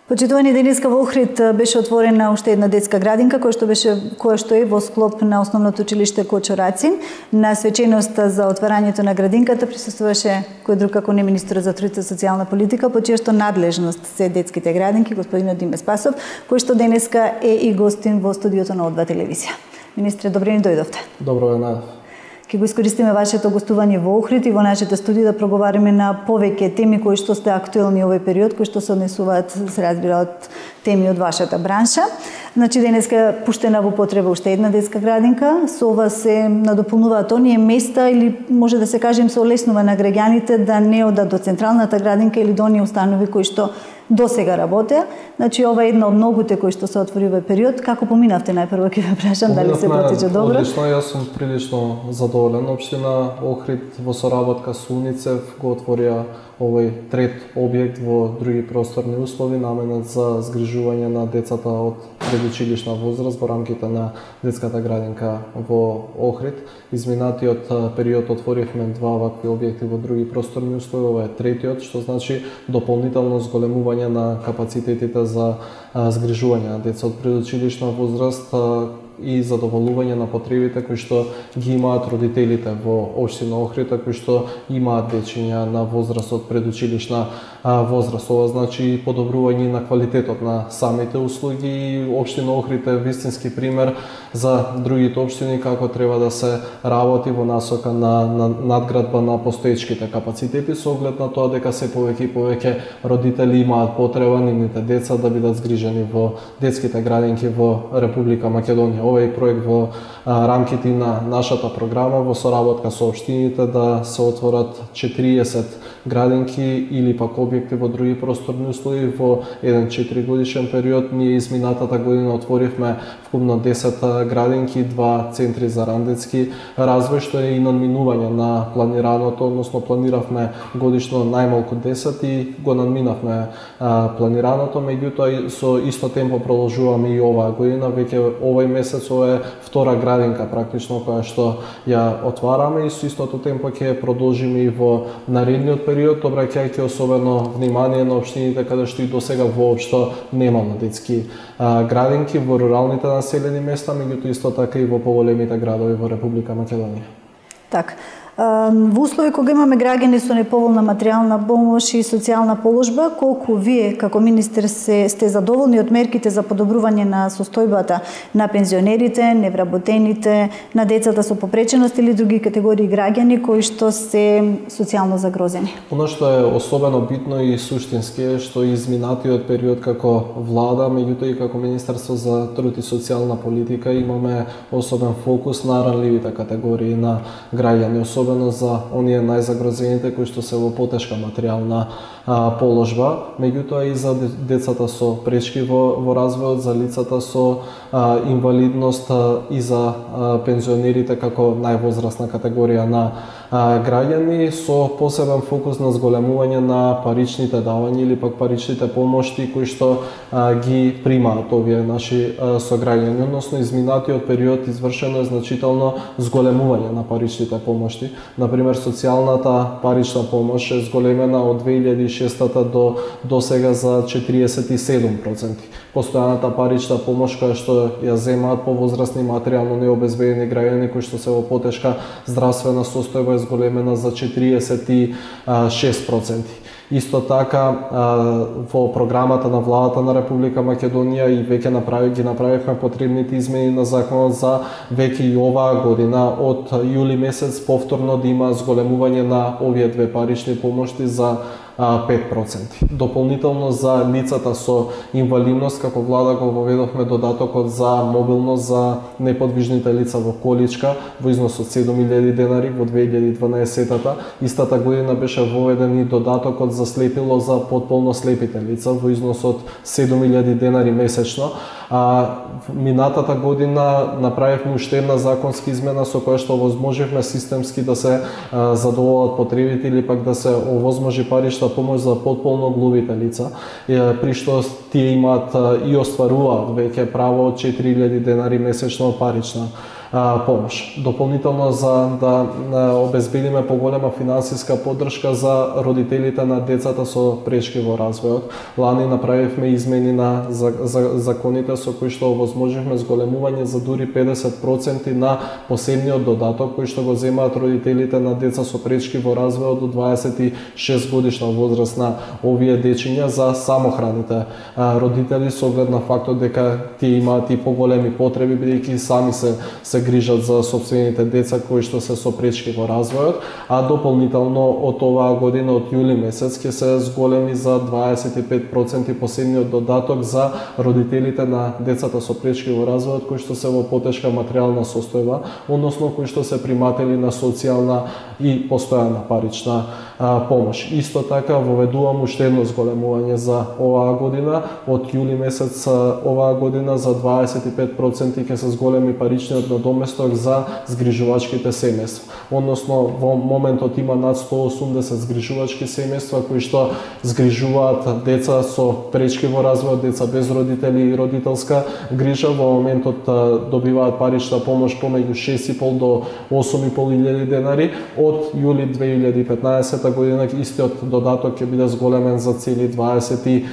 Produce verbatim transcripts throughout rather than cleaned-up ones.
Почитувани, денеска во Охрид беше отворена уште една детска градинка која што беше која што е во склоп на основното училиште Кочо Рацин. На свеченоста за отварањето на градинката присуствуваше кој друг како не министерот за труд и социјална политика, по чија што надлежност се детските градинки, господинот Диме Спасов, кој што денеска е и гостин во студиото на О два телевизија. Министре, добре ни дојдовте. Добро е, Ке го искористиме вашето гостување во Охрид и во нашите студии да проговариме на повеќе теми кои што сте актуелни овој период, кои што се однесуваат, се разбира, од теми од вашата бранша. Значи, денеска пуштена во потреба уште една детска градинка. Со ова се надополнуваат оние места или може да се каже им се олеснува на граѓаните да не одат до централната градинка или до оние установи кои што досега работеа. Значи, ова е една од многуте кои што се отвори овој период. Како поминавте, најпрво ќе ве прашам, дали се потече добро? Одлично, јас сум прилично задоволен. Општина Охрид во соработка со УНИЦЕФ го отворија овој трет објект во други просторни услови, наменет за згрижување на децата од предучилишна возраст во рамките на детската градинка во Охрид. Изминатиот период отворивме два вакви објекти во други просторни услови, ова е третиот, што значи дополнително зголемување на капацитетите за згрижување на деца од предучилишна возраст и задоволување на потребите кои што ги имаат родителите во општина Охрид, кои што имаат дечиња на возраст од предучилишна возраст. Ова значи подобрување на квалитетот на самите услуги и општина Охрид е вистински пример за другите општини како треба да се работи во насока на, на надградба на постоечките капацитети со оглед на тоа дека се повеќе и повеќе родители имаат потреба нивните деца да бидат згрижени во детските градинки во Република Македонија. Овој проект во а, рамките на нашата програма во соработка со општините да се отворат четириесет градинки или пак објекти во други просторни услови во еден четиригодишен период. Ние изминатата година отворивме вкупно десет градинки, два центри за рандетски развој, што е и надминување на планираното, односно планиравме годишно најмалку десет и го надминавме а, планираното, меѓутоа со исто темпо продолжуваме и оваа година, веќе овој месец ова е втора градинка практично која што ја отвараме и со истото темпо ќе продолжиме и во наредниот период, обраќајќи особено внимание на општините каде што и досега воопшто немало детски а, градинки во руралните населени места, меѓутоа исто така и во поголемите градови во Република Македонија. Так. Во услови кога имаме граѓани со неповолна материјална помош и социјална положба, колку вие како министер се, сте задоволни од мерките за подобрување на состојбата на пензионерите, невработените, на децата со попреченост или други категории граѓани кои што се социјално загрозени? Оно што е особено битно и суштински е што изминатиот период како влада, меѓутоа и како Министерство за труд и социјална политика имаме особен фокус на ранливите категории на граѓани, особено за оние најзагрозените кои што се во потешка материјална а, положба, меѓутоа и за децата со пречки во, во развојот, за лицата со а, инвалидност а, и за а, пензионерите како највозрасна категорија на а, граѓани, со посебен фокус на зголемување на паричните давања или пак паричните помошти кои што а, ги примаат овие наши а, сограѓани, односно изминатиот период извршено е значително зголемување на паричните помошти. Например, социјалната парична помош е зголемена од две илјади и шестата до до сега за четириесет и седум проценти. Постојаната парична помош која што ја земаат повозрасни материјално необезбедени граѓани кои што се во потешка здравствена состојба е зголемена за четириесет и шест проценти. Исто така во програмата на владата на Република Македонија и веќе направи ги направивме потребните измени на законот за веќе и оваа година од јули месец повторно да има зголемување на овие две парични помошти за пет проценти. Дополнително за лицата со инвалидност, како влада го воведовме додатокот за мобилност за неподвижните лица во количка во износ од седум илјади денари во две илјади и дванаесетата. Истата година беше воведен и додатокот за слепило за потполно слепите лица во износ од седум илјади денари месечно. А минатата година направивме уште една законска измена со која што овозможивме системски да се а, задоволат потребите или пак да се овозможи парична помош за потполно глувите лица, при што тие имаат и остваруваат веќе право од четири илјади денари месечно парична а, помош. Дополнително за да а, обезбедиме поголема финансиска поддршка за родителите на децата со прешки во развојот. Лани направивме измени на за, за, законите со кои што овозможивме зголемување за дури педесет проценти на посебниот додаток кој што го земаат родителите на деца со прешки во развојот до дваесет и шест годишна возраст на овие дечиња за самохраните а, родители со оглед на фактот дека тие имаат и поголеми потреби бидејќи сами се се грижат за сопствените деца кои што се со прешки во развојот, а дополнително од оваа година од јули месец ќе се зголеми за дваесет и пет проценти посебниот додаток за родителите на децата со прешки во развојот кои што се во потешка материјална состојба, односно кои што се приматели на социјална и постојана парична а, помош. Исто така воведувам уште едно зголемување за оваа година. Од јули месец оваа година за дваесет и пет проценти ќе се зголеми паричниот надоместок за згрижувачките семејства. Односно во моментот има над сто осумдесет згрижувачки семејства кои што згрижуваат деца со прешки во развојот, деца без родители и родителска грижа. Во моментот добиваат парична помош помеѓу шест и пол до осум и пол илјади денари. Од јули две илјади и петнаесета година истиот додаток ќе биде зголемен за цели дваесет и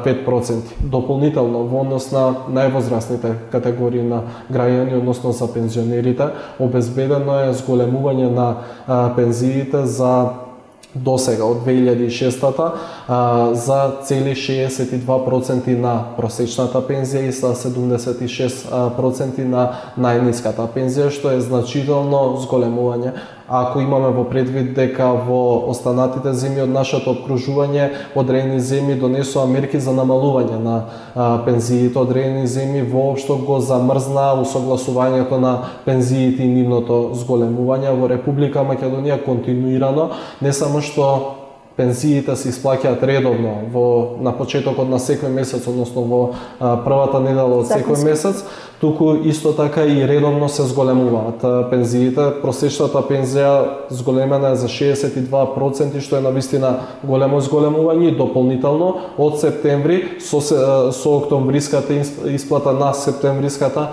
пет проценти. Дополнително во однос на највозрастните категории на граѓани, односно за пензионерите, обезбедено е зголемување на а, пензиите за досега од две илјади и шестата а, за цели шеесет и два проценти на просечната пензија и за седумдесет и шест проценти на најниската пензија, што е значително зголемување. Ако имаме во предвид дека во останатите земји од нашето обкружување одредени земји донесоа мерки за намалување на а, пензиите, одредени земји воопшто го замрзна усогласувањето на пензиите и нивното зголемување. Во Република Македонија континуирано не само што пензиите се исплаќаат редовно во на почетокот на секој месец, односно во а, првата недела од секој месец, туку исто така и редовно се зголемуваат пензиите. Просечната пензија зголемена е за шеесет и два проценти, што е навистина големо зголемување. И дополнително од септември со, со октомвриската исплата на септемвриската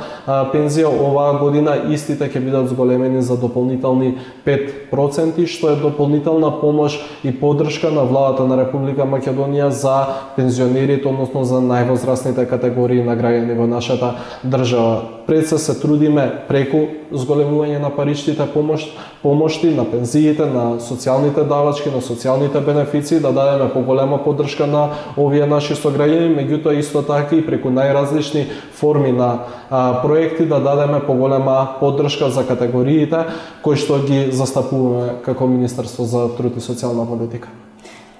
пензија оваа година истите ќе бидат зголемени за дополнителни пет проценти, што е дополнителна помош и поддршка на владата на Република Македонија за пензионерите, односно за највозрастните категории на граѓани во нашата држава. Пред се се трудиме преку зголемување на паричните помош, помошти, на пензиите, на социјалните давачки, на социјалните бенефиции, да дадеме поголема поддршка на овие наши сограѓани, меѓутоа исто така и преку најразлични форми на а, проекти да дадеме поголема поддршка за категориите кои што ги застапуваме како Министерство за труд и социјална политика.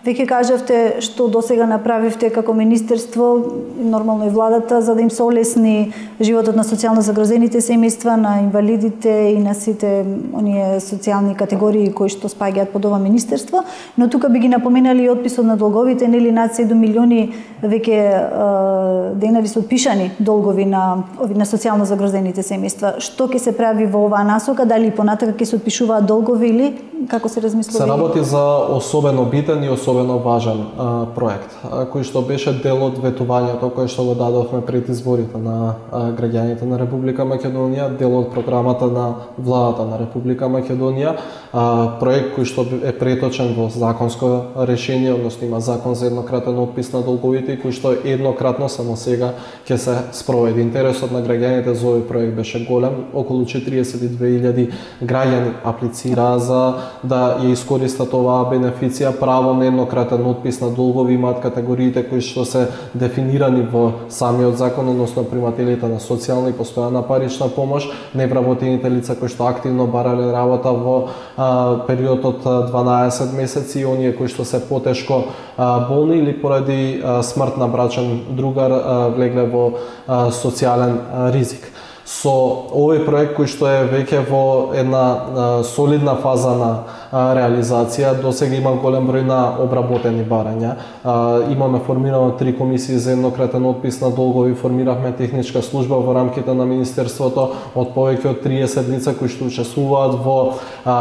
Веќе кажавте што досега направивте како министерство, нормално и владата, за да им се олесни животот на социјално загрозените семејства, на инвалидите и на сите оние социјални категории кои што спаѓаат под ова министерство, но тука би ги напоменали и отписот на долговите, нели над седум милиони веќе денари се отпишани долгови на ови на социјално загрозените семејства. Што ќе се прави во оваа насока? Дали понатака ќе се отпишуваат долгови или како се размислува? Се работи за особено битен и особено важен а, проект, а, кој што беше дел од ветувањето кој што го дадовме пред изборите на а, граѓаните на Република Македонија, дел од програмата на владата на Република Македонија, а, проект кој што е преточен во законско решение, односно има закон за еднократен отпис на долговите, кој што еднократно само сега ќе се спроведе. Интересот на граѓаните за овој проект беше голем, околу четириесет и две илјади граѓани аплицираа за да ја искористат оваа бенефиција. Право на еднократен отпис на долгови имаат категориите кои што се дефинирани во самиот закон, односно примателите на социјална и постојана парична помош, невработените лица кои што активно барале работа во а, период од дванаесет месеци и оние кои што се потешко а, болни или поради а, смрт на брачен другар а, влегле во а, социјален а, ризик. Со овој проект кој што е веќе во една а, солидна фаза на а, реализација, досега има голем број на обработени барања. А, имаме формирано три комисии за еднократен отпис на долгови, формиравме техничка служба во рамките на Министерството од повеќе од триесет лица кои што учествуваат во а,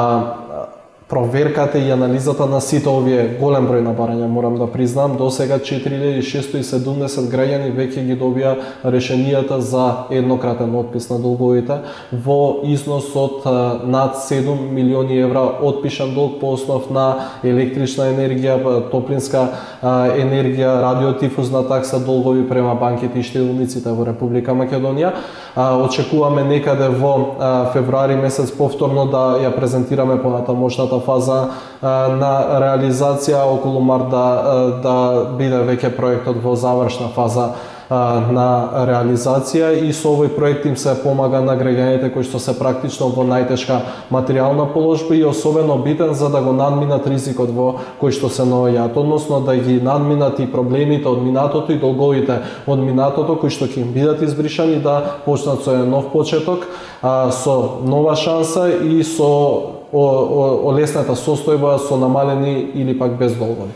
проверката и анализата на сите овие голем број на барања, морам да признам, до сега четири илјади шестоста и седумдесет граѓани веќе ги добија решенијата за еднократен отпис на долговите во износ од над седум милиони евра отпишан долг по основ на електрична енергија, топлинска енергија, радиотифузна такса, долгови према банките и штедилниците во Република Македонија. Очекуваме некаде во февруари месец повторно да ја презентираме понатамошната фаза на реализација, околу март да, да биде веќе проектот во завршна фаза на реализација и со овој проект им се помага на граѓаните кои што се практично во најтешка материјална положба и особено битен за да го надминат ризикот во кој што се наоѓаат, односно да ги надминат и проблемите од минатото и долговите од минатото кои што ќе им бидат избришани, да почнат со еден нов почеток, со нова шанса и со олесната состојба со намалени или пак без долгови.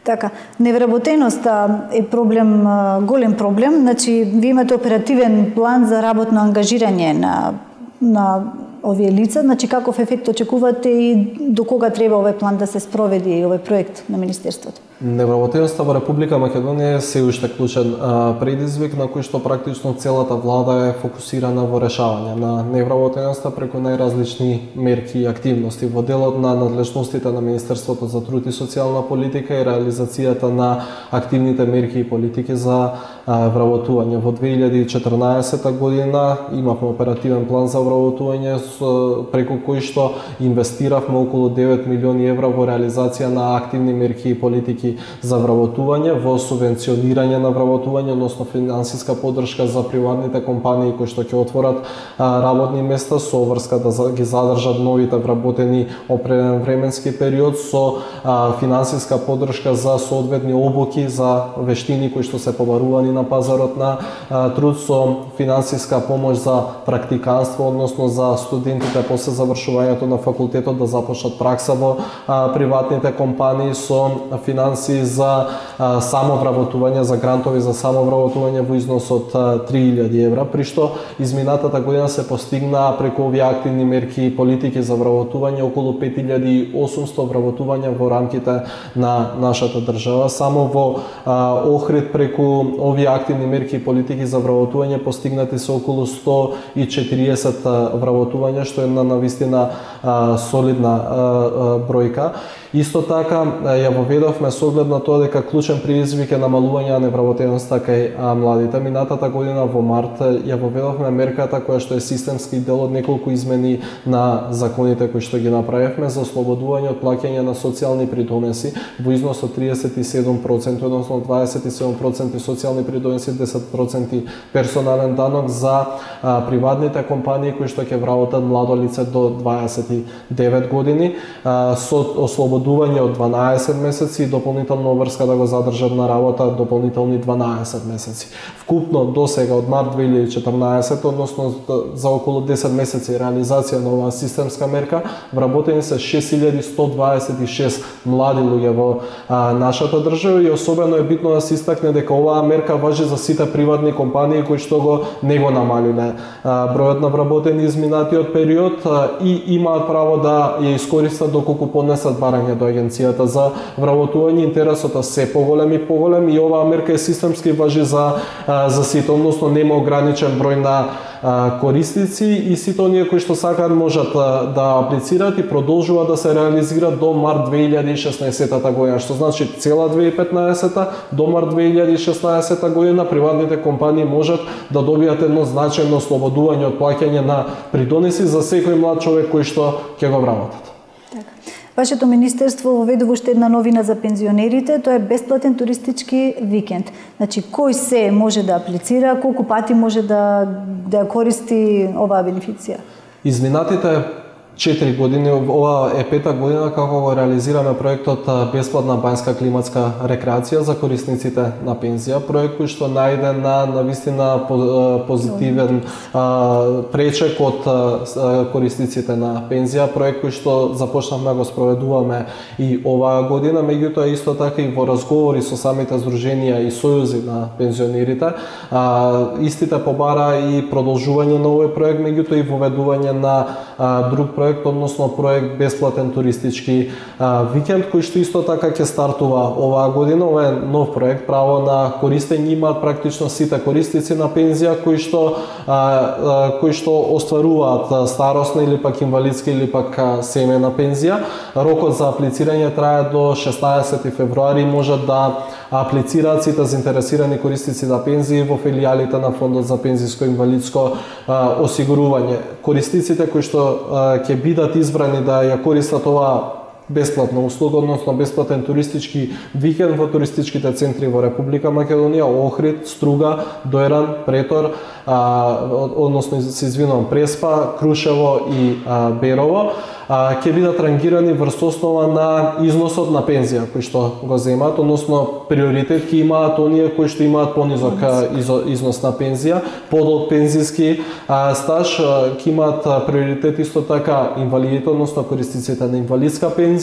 Така, невработеноста е проблем, голем проблем, значи ви имате оперативен план за работно ангажирање на на овие лица, значи каков ефект очекувате и до кога треба овој план да се спроведи, овој проект на министерството? Невработеноста во Република Македонија е се уште клучен предизвик на кој што практично целата влада е фокусирана во решавање на невработеноста преку најразлични мерки и активности. Во делот на надлежностите на Министерството за труд и социјална политика и реализацијата на активните мерки и политики за вработување. Во две илјади и четрнаесета година имавме оперативен план за вработување преку кој што инвестиравме околу девет милиони евра во реализација на активни мерки и политики за вработување, во субвенционирање на вработување, односно финансиска поддршка за приватните компании кои што ќе отворат работни места со врска да ги задржат новите вработени определен временски период, со финансиска поддршка за соодветни обуки за вештини кои што се побарувани на пазарот на труд, со финансиска помош за практиканство, односно за студентите после завршувањето на факултетот да започнат пракса во приватните компании, со финанси за самовработување, за грантови за самовработување во износ од три илјади евра, при што изминатата година се постигна преку овие активни мерки и политики за вработување околу пет илјади и осумсто вработувања во рамките на нашата држава. Само во Охрид преку овие активни мерки и политики за вработување постигнати се околу сто и четириесет вработувања, што е на навистина солидна бројка. Исто така ја воведовме со оглед на тоа дека клучен предизвик е намалување на невработеноста кај младите. Минатата година во март ја воведовме мерката која што е системски дел од неколку измени на законите кои што ги направивме за ослободување од плаќање на социјални придонеси во износ од триесет и седум проценти, односно дваесет и седум проценти социјални придонеси, десет проценти персонален данок за а, приватните компании кои што ќе вработат младо лице до дваесет и девет години, а, со ослободување од дванаесет месеци и дополнително врска да го задржат на работа дополнителни дванаесет месеци. Вкупно до сега од март две илјади и четрнаесета, односно за околу десет месеци реализација на оваа системска мерка, вработени се шест илјади сто дваесет и шест млади луѓе во а, нашата држава и особено е битно да се истакне дека оваа мерка важи за сите приватни компании кои што го не го намалиле а, бројот на вработени изминатиот период а, и имаат право да ја искористат доколку поднесат барање до агенцијата за вработување. Интересот е се поголем и поголем и оваа мерка е системски важи за за сите, односно нема ограничен број на корисници и сите оние кои што сакаат можат да аплицираат и продолжува да се реализира до март две илјади и шеснаесета година, што значи цела две илјади и петнаесета до март две илјади и шеснаесета година приватните компании можат да добијат едно значајно ослободување од плаќање на придонеси за секој млад човек кој што ќе го вработат. Вашето министерство воведува уште една новина за пензионерите, тоа е бесплатен туристички викенд. Значи, кој се може да аплицира, колку пати може да да ја користи оваа бенефиција? Изминатите четири години, ова е пета година како го реализираме проектот бесплатна банјска климатска рекреација за корисниците на пензија, проект кој што најде на навистина позитивен а, пречек од а, корисниците на пензија, проект кој што започнавме го спроведуваме и оваа година, меѓутоа исто така и во разговори со самите здруженија и сојузи на пензионерите, а, истите побара и продолжување на овој проект, меѓутоа и воведување на а, друг проект проект, односно проект бесплатен туристички а, викенд, кој што исто така ќе стартува оваа година. Ова е нов проект, право на користење имаат практично сите корисници на пензија кои што а, а, кои што остваруваат старосна или пак инвалидска или пак семејна пензија. Рокот за аплицирање трае до шеснаесети февруари, можат да аплицираат сите заинтересирани корисници на пензии во филијалите на Фондот за пензиско и инвалидско а, осигурување. Корисниците кои што ќе бидат избрани да ја користат оваа бесплатна услуга, односно бесплатен туристички викенд во туристичките центри во Република Македонија, Охрид, Струга, Дојран, Претор, а, односно се извинувам, Преспа, Крушево и а, Берово, а, ќе бидат рангирани врз основа на износот на пензија кој што го земаат, односно приоритет ќе имаат оние кои што имаат понизок износ на пензија, подолг пензиски а, стаж, ќе имаат приоритет исто така инвалидите, односно корисниците на инвалидска пензија,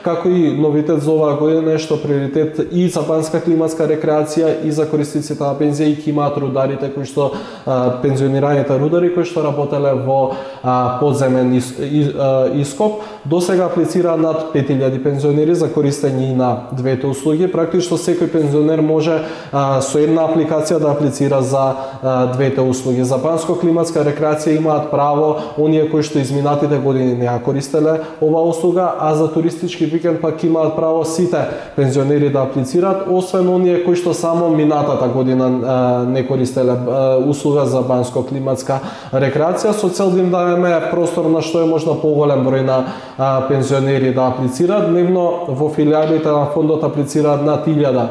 како и новитет за оваа година е што приоритет и за банска климатска рекреација и за корисниците на пензија и ќе имаат рударите кои што а, пензионираните рудари кои што работеле во а, подземен из, из, а, ископ. До сега аплицира над пет илјади пензионери за користење на двете услуги. Практично секој пензионер може а, со една апликација да аплицира за а, двете услуги. За банско климатска рекреација имаат право оние кои што изминатите години не ја користеле оваа услуга, а за туристички викенд пак имаат право сите пензионери да аплицираат, освен оние кои што само минатата година а, не користеле а, услуга за банско климатска рекреација, со цел да им дадеме простор на што е можно поголем број на а, пензионери да аплицираат. Дневно во филијалите на фондот аплицираат над илјада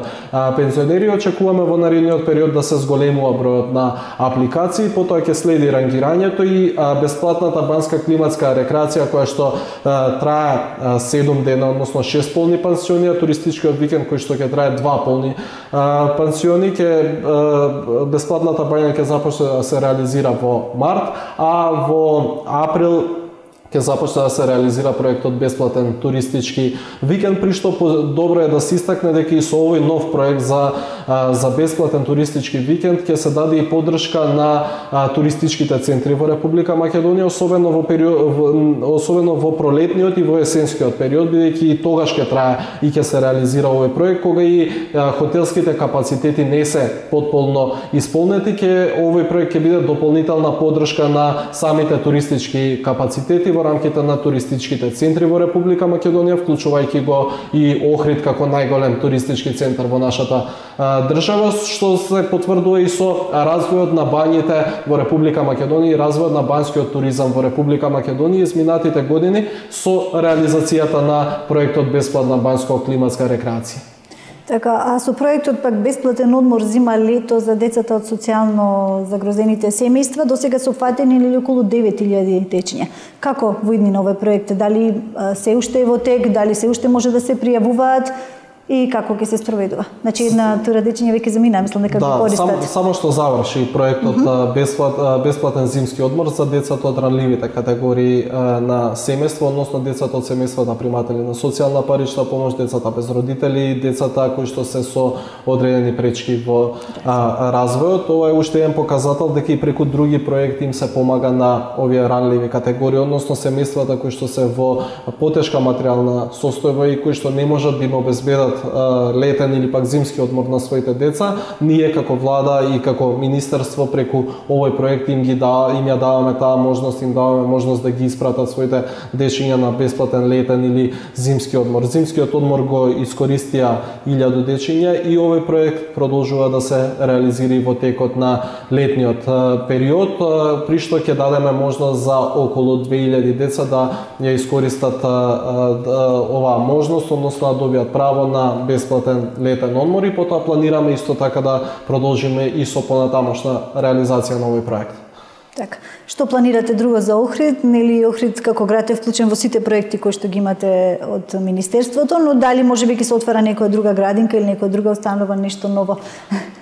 пензионери. Очекуваме во наредниот период да се зголемува бројот на апликации, потоа ќе следи рангирањето и а, бесплатната банска климатска рекреација која што а, трае а, седум дена, односно шест полни пансиони, а туристичкиот викенд кој што ќе трае два полни а, пансиони, ќе а, бесплатната бања ќе започне да се реализира во март, а во април ќе започне да се реализира проектот бесплатен туристички викенд, при што добро е да се истакне дека и со овој нов проект за за бесплатен туристички викенд ќе се даде и поддршка на а, туристичките центри во Република Македонија, особено во период во, особено во пролетниот и во есенскиот период, бидејќи и тогаш ќе трае и ќе се реализира овој проект кога и а, хотелските капацитети не се потполно исполнети. Ќе овој проект ќе биде дополнителна поддршка на самите туристички капацитети во рамките на туристичките центри во Република Македонија, вклучувајќи го и Охрид како најголем туристички центар во нашата а, држава, што се потврдува и со развојот на бањите во Република Македонија и развојот на банскиот туризам во Република Македонија изминатите години со реализацијата на проектот бесплатна банско-климатска рекреација. Така, а со проектот пак бесплатен одмор зима лето за децата од социјално загрозените семејства, досега се опфатени или околу девет илјади дечиња. Како во иднина овој проект? Дали се уште е во тек, дали се уште може да се пријавуваат и како ќе се спроведува? Значи една тура дечиња веќе замина, мислам дека да, го користат. Само, само што заврши проектот mm -hmm. бесплат, бесплатен зимски одмор за децата од ранливите категории на семејство, односно децата од семејствата приматели на социјална парична помош, децата без родители, децата кои што се со одредени пречки во а, развојот. Ова е уште еден показател дека и преку други проекти им се помага на овие ранливи категории, односно семејствата кои што се во потешка материјална состојба и кои што не можат да им обезбедат летен или пак зимски одмор на своите деца. Ние како влада и како министерство преку овој проект им ги да им ја даваме таа можност, им даваме можност да ги испратат своите дечиња на бесплатен летен или зимски одмор. Зимскиот одмор го искористија илјаду дечиња и овој проект продолжува да се реализира во текот на летниот период, при што ќе дадеме можност за околу две илјади деца да ја искористат оваа можност, односно да добијат право на бесплатен летен одмор и потоа планираме исто така да продолжиме и со понатамошна реализација на овој проект. Така, што планирате друго за Охрид? Нели Охрид како град е вклучен во сите проекти кои што ги имате од министерството, но дали можеби ќе се отвара некоја друга градинка или некоја друга установа, нешто ново?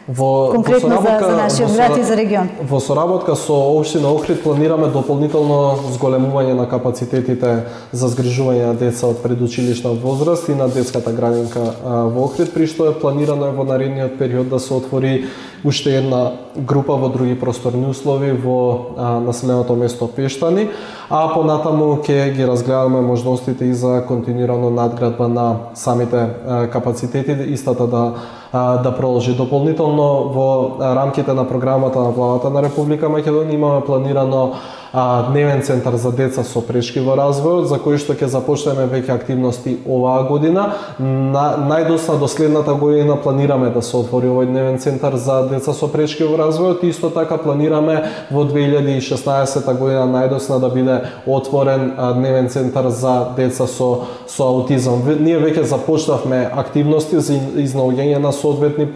Во конкретно во за, за нашиот град и за регион. Во соработка со општина Охрид планираме дополнително зголемување на капацитетите за згрижување на деца од предучилишна возраст и на детската градинка во Охрид, при што е планирано во наредниот период да се отвори уште една група во други просторни услови во а, населеното место Пештани, а понатаму ќе ги разгледаме можностите и за континуирано надградба на самите а, капацитети, истата да а, да продолжи. Дополнително во рамките на програмата на владата на Република Македонија имаме планирано а, дневен центар за деца со прешки во развојот, за кој што ќе започнеме веќе активности оваа година. На, најдосна до следната година планираме да се отвори овој дневен центар за деца со прешки во развојот. Исто така планираме во две илјади и шеснаесетта година најдосна да биде отворен а, дневен центар за деца со со аутизам. Ние веќе започнавме активности за изнаоѓање на соодветни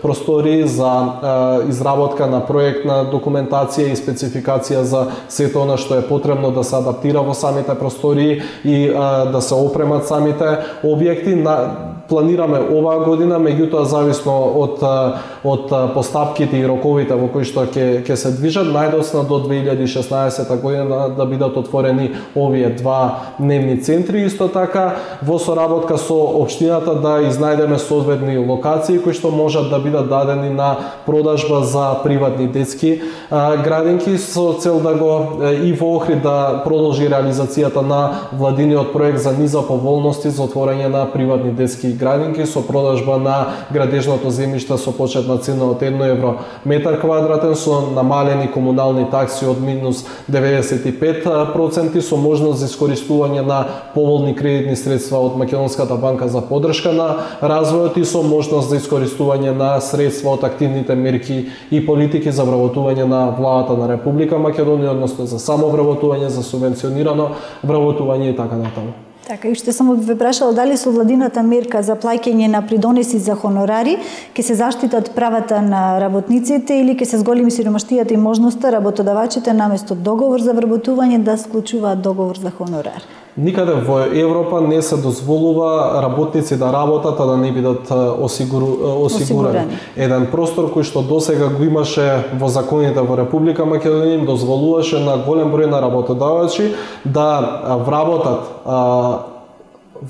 простори, за а, изработка на проектна документација и спецификација за сето она што е потребно да се адаптира во самите простори и а, да се опремат самите објекти. На, планираме оваа година, меѓутоа зависно од од постапките и роковите во кои што ќе ќе се движат, најдосна до две илјади и шеснаесетта година да бидат отворени овие два дневни центри. Исто така во соработка со општината да изнајдеме соодветни локации кои што можат да бидат дадени на продажба за приватни детски а, градинки со цел да го и во Охрид да продолжи реализацијата на владиниот проект за низа поволности за отворање на приватни детски градинки со продажба на градежното земјиште со почетна цена од едно евро метар квадратен, со намалени комунални такси од минус деветдесет и пет проценти, со можност за искористување на поволни кредитни средства од Македонската банка за поддршка на развојот и со можност за искористување на средства од активните мерки и политики за вработување на владата на Република Македонија, односно за самовработување, за субвенционирано вработување и така натаму. Така, и што само ве прашала дали со владината мерка за плаќање на придонеси за хонорари ќе се заштитат правата на работниците или ќе се зголеми сиромаштијата и можноста работодавачите наместо договор за вработување да склучуваат договор за хонорар? Никаде во Европа не се дозволува работници да работат, а да не бидат осигуру, осигурани. осигурани. Еден простор кој што досега го имаше во законите во Република Македонија им дозволуваше на голем број на работодавачи да вработат а,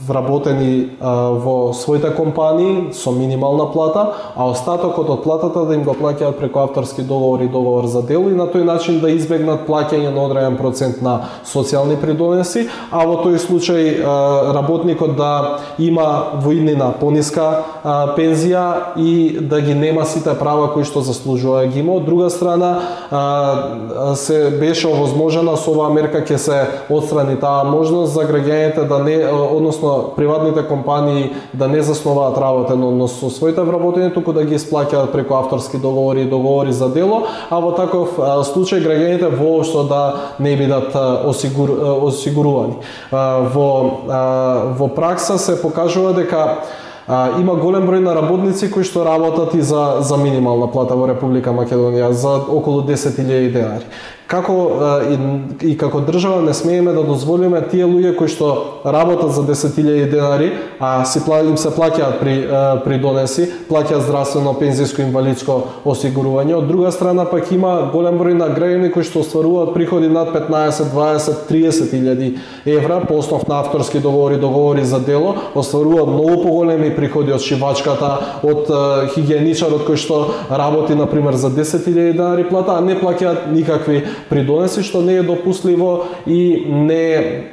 вработени а, во своите компании со минимална плата, а остатокот од платата да им го плаќаат преку авторски договор и договор за дело и на тој начин да избегнат плаќање на одреден процент на социјални придонеси, а во тој случај а, работникот да има во иднина пониска а, пензија и да ги нема сите права кои што заслужува да ги има. Од друга страна а, се беше овозможена со оваа мерка ќе се отстрани таа можност за граѓаните да не, односно приватните компании да не заснуваат работен однос со своите вработени, туку да ги исплаќаат преку авторски договори и договори за дело, а во таков а, случај граѓаните воопшто да не бидат а, осигур, а, осигурувани. А, во, а, во пракса се покажува дека А, има голем број на работници кои што работат и за, за минимална плата во Република Македонија, за околу десет илјади денари. Како и, и како држава не смееме да дозволиме тие луѓе кои што работат за десет илјади денари, а си им се плаќаат при при донеси, плаќаат здравствено, пензиско, инвалидско осигурување. Од друга страна пак има голем број на граѓани кои што остваруваат приходи над петнаесет, дваесет, триесет илјади евра по основ на авторски договори, договори за дело, остваруваат многу поголеми приходи од шивачката, од хигиеничарот кој што работи на пример за десет илјади денари плата, а не плаќаат никакви придонеси, што не е допустливо и не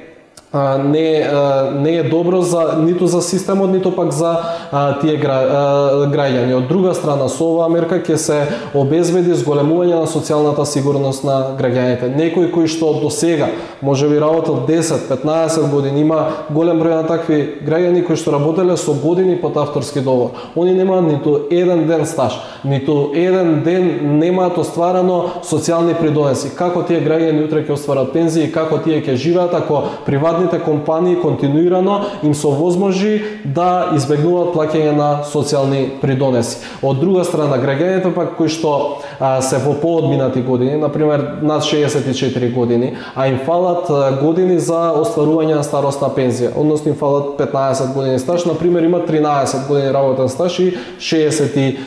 не не е добро за ниту за системот, ниту пак за а, тие гра, а, граѓани. Од друга страна, со оваа мерка ќе се обезбеди зголемување на социјалната сигурност на граѓаните. Некои кои што до сега можеби работел десет, петнаесет години, има голем број на такви граѓани кои што работеле со години под авторски договор. Они немаат ниту еден ден стаж, ниту еден ден немаат остварано социјални придонеси. Како тие граѓани утре ќе остварат пензии, како тие ќе живеат ако приватни државните компании континуирано им се овозможи да избегнуваат плаќање на социјални придонеси. Од друга страна, граѓаните пак кои што а, се во поодминати години, на пример над шеесет и четири години, а им фалат а, години за остварување на старосна пензија, односно им фалат петнаесет години стаж, на пример има тринаесет години работен стаж и шеесет и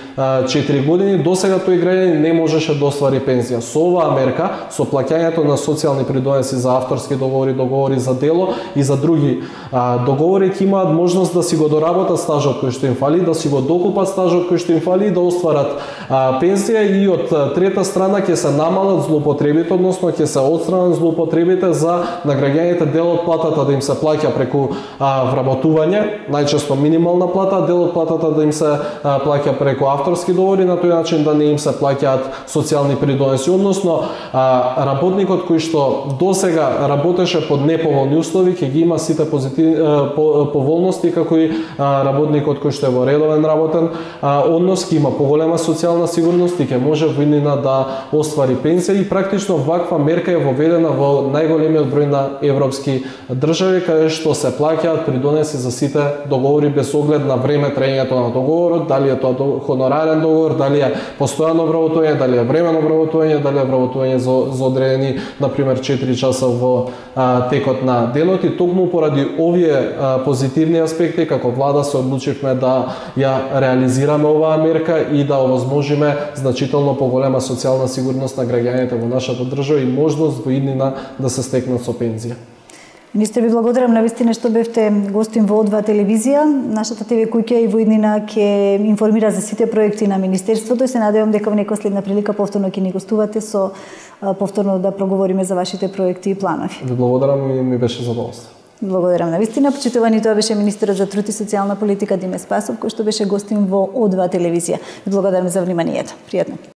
четири години, досега тој граѓанин не можеше да оствари пензија. Со оваа мерка, со плаќањето на социјални придонеси за авторски договори, договори за дело и за други а, договори, ќе имаат можност да си го доработат стажот кој што им фали, да си го докупат стажот кој што им фали и да остварат а, пензија, и од трета страна ќе се намалат злоупотребите, односно ќе се отстранат злоупотребите за на граѓаните дел од платата да им се плаќа преку а, вработување, најчесто минимална плата, дел од платата да им се а, плаќа преку авторски договори, на тој начин да не им се плаќаат социјални придонеси, односно а, работникот кој што досега работеше под неповолни услови ќе ги има сите позитивни поволности како и а, работникот кој што е во редовен работен а, однос, ќе има поголема социјална сигурност и ќе може во иднина да оствари пензија, и практично ваква мерка е воведена во најголемиот број на европски држави, каде што се плаќаат придонеси за сите договори без оглед на време траењето на договорот, дали е тоа хонорарен договор, дали е постојано вработување, дали е времено вработување, дали е вработување за, за одредени, на пример четири часа во а, текот на денот. И токму поради овие а, позитивни аспекти, како влада се одлучивме да ја реализираме оваа мерка и да овозможиме значително поголема социјална сигурност на граѓаните во нашата држава и можност во иднина да се стекнат со пензија. Министре, ви благодарам на вистина што бевте гостин во О два телевизија. Нашата ТВ куќа и во иднина ќе информира за сите проекти на Министерството и се надевам дека во некоја следна прилика повторно ќе ни гостувате со повторно да проговориме за вашите проекти и планови. Ви благодарам и ми беше задоволство. Благодарам на вистина. Почитувани, тоа беше министерот за труд и социјална политика Диме Спасов, кој што беше гостин во О два телевизија. Ви благодарам за вниманието. Пријатно.